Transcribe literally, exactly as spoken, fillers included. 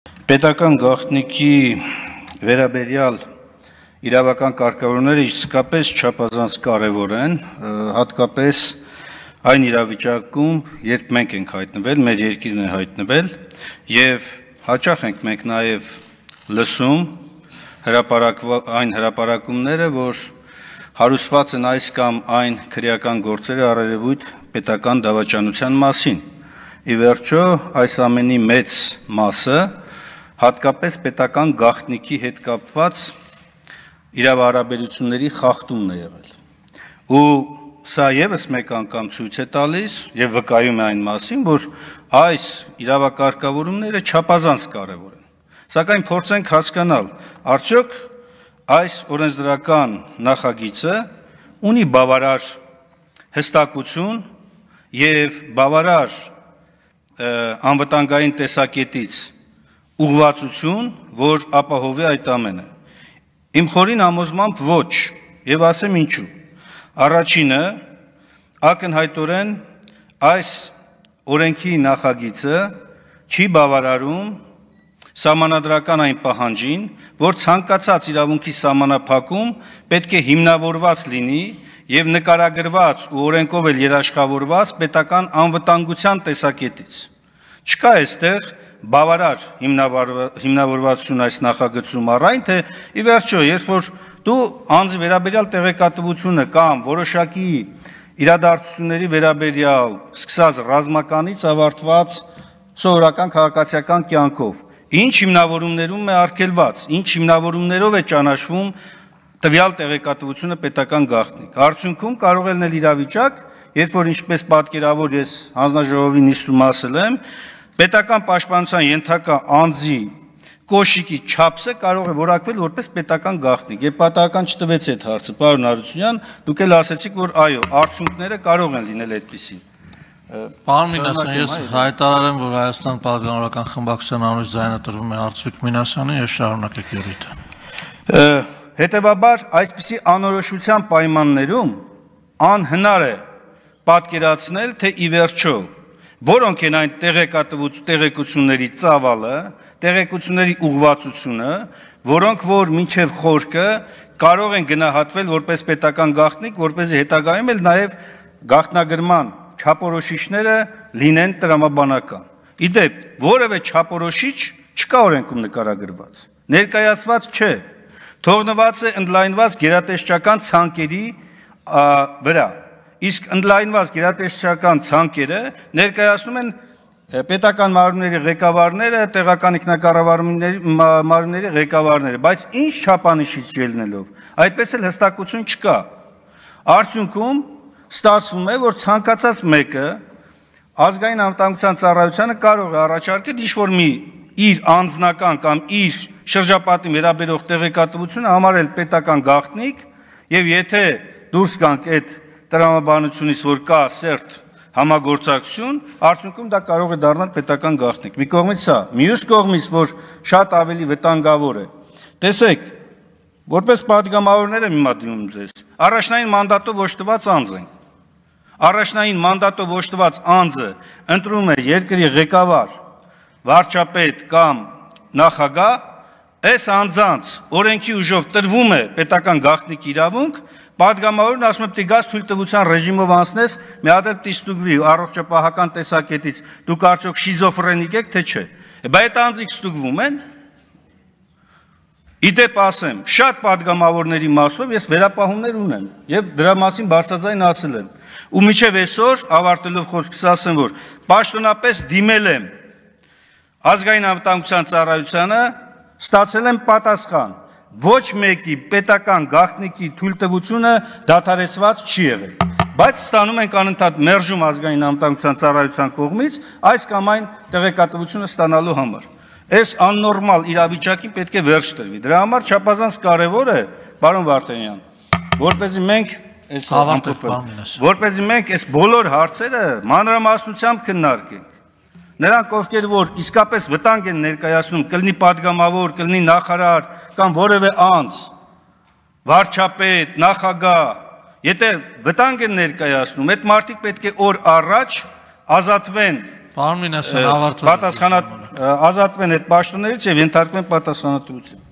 Պետական գաղտնիքի վերաբերյալ իրավական կարգավորումները իսկապես չափազանց կարևոր են, հատկապես այն իրավիճակում, երբ մենք ենք հայտնվել, մեր երկիրն է հայտնվել, եւ հաճախ ենք մենք նաեւ լսում այն հրապարակումները, որ հարուցված են այս կամ այն քրեական գործերը առերևույթ պետական դավաճանության մասին։ Ի վերջո, այս ամենի մեծ մասը հատկապես պետական գաղտնիքի հետ կապված իրավահարաբերությունների խախտումն է եղել։ Ու սա եւս մեկ անգամ ցույց է տալիս եւ վկայում է այն մասին, որ այս իրավակարգավորումները չափազանց կարեւոր են։ Սակայն փորձենք հասկանալ, արդյոք այս օրենսդրական նախագիծը ունի բավարար հստակություն եւ բավարար անվտանգային տեսակետից ուղղվածություն, որ ապահովի այդ ամենը։ Իմ խորին համոզմամբ ոչ, եւ ասեմ ինչու։ Առաջինը, ակնհայտորեն այս օրենքի նախագիծը չի բավարարում սահմանադրական այն պահանջին, որ ցանկացած իրավունքի սահմանափակում պետք է հիմնավորված լինի եւ նկարագրված ու օրենքով էլ երաշխավորված պետական անվտանգության տեսակետից։ Չկա այստեղ բավարար հիմնավորվածություն այս նախագծում առայն, թե ի վերջո, երբ որ դու անձի վերաբերյալ տեղեկատվությունը կամ որոշակի իրադարձությունների վերաբերյալ սկսած ռազմականից ավարտված սովորական քաղաքացիական կյանքով, ինչ հիմնավորումներում է արգելված, ինչ հիմնավորումներով է ճանաչվում տվյալ տեղեկատվությունը պետական գաղտնիք։ Արդյունքում կարող է լինել իրավիճակ, երբ որ ինչպես պատկերավոր ես հանձնաժողովի նիստում ասել եմ, պետական պաշտպանության ենթակա անձի կոշիկի չափսը կարող է որակվել որպես պետական գաղտնիք։ Եվ պատահական չտվեց այդ հարցը, պարոն Հարությունյան, դուք էլ ասեցիք, որ այո, արդյունքները կարող են լինել այդպիսին։ Պարոն Մինասյան, ես հայտարարեմ, որ Հայաստան պատգամավորական խմբակցության անունից ձայնատրվում է Արծվիկ Մինասյանը եւ շարունակեք յուրիթը։ Հետևաբար, այսպիսի անորոշության պայմաններում անհնար է պատկերացնել, թե ի վերջո որոնք են այն տեղեկությունների ծավալը, տեղեկությունների ուղղվածությունը, որոնք որ մինչև խորքը կարող են գնահատվել որպես պետական գաղտնիք, որպեսզի հետագայում էլ նաև գաղտնագրման չափորոշիչները լինեն տրամաբանական։ Իդեպ, որևէ չափորոշիչ չկա օրենքում նկարագրված, ներկայացված չէ, թողնված է ընդլայնված գերատեսչական ցանկերի վրա։ Իսկ ընդլայնված գերատեսչական ցանկերը ներկայացնում են պետական մարմինների ղեկավարները, տեղական ինքնակառավարումների մարմինների ղեկավարները, բայց ինչ չափանիշից ելնելով, այդպես էլ հստակություն չկա։ Արդյունքում ստացվում է, որ ցանկացած մեկը ազգային անվտանգության ծառայությանը կարող է առաջարկել ինչ-որ մի իր անձնական կամ իր շրջապատին վերաբերող տեղեկատվությունը համարել պետական գաղտնիք, եւ եթե դուրս գանք այդ տրամաբանությունից, որ կա սերտ համագործակցություն, արդյունքում դա կարող է դառնալ պետական գաղտնիք։ Մի կողմից սա, մյուս կողմից, որ շատ ավելի վտանգավոր է։ Տեսեք, որպես պատգամավորներ եմ հիմա դիմում ձեզ, առաջնային մանդատով օժտված անձ ենք։ Առաջնային մանդատով օժտված անձը ընտրում է երկրի ղեկավար, վարչապետ կամ նախագահ, այս անձանց օրենքի ուժով տրվում է պետական գաղտնիք իրավունք, պատգամավորն ասում է, պիտի գաս թույլտվության ռեժիմով անցնես, մի հատ էլ ստուգվի առողջապահական տեսակետից, դուք արդյոք շիզոֆրենիկ եք, թե չէ։ Բայց այդ անձիկ ստուգվում են։ Իդեպ ասեմ, շատ պատգամավորների մասով ես վերապահումներ ունեմ եւ դրա մասին բարձրաձայն ասել եմ։ Ու մինչեւ այսօր ավարտելով խոսքս ասեմ, որ պաշտոնապես դիմել եմ ազգային անվտանգության ծառայությանը, ստացել եմ պատասխան։ Ոչ մեկի պետական գաղտնիքի թույլտվությունը դադարեցված չի եղել, բայց ստանում ենք անընդհատ մերժում ազգային անվտանգության ծառայության կողմից այս կամ այն տեղեկատվությունը ստանալու համար։ Այս աննորմալ իրավիճակին պետք է վերջ տրվի։ Դրա համար չափազանց կարևոր է, պարոն Վարդանյան, որպեսզի մենք այս որպեսզի մենք այս բոլոր հարցերը մանրամասնությամբ քննարկենք։ Նրանք, ովքեր որ իսկապես վտանգ են ներկայացնում, կլինի պատգամավոր, կլինի նախարար կամ որևէ անձ, վարչապետ, նախագահ, եթե վտանգ են ներկայացնում, այդ մարդիկ պետք է օր առաջ ազատվեն Պարոն Մինասյան, ավարտել պատասխանատ ազատվեն այդ պաշտոններից եւ ենթարկվեն պատասխանատվության։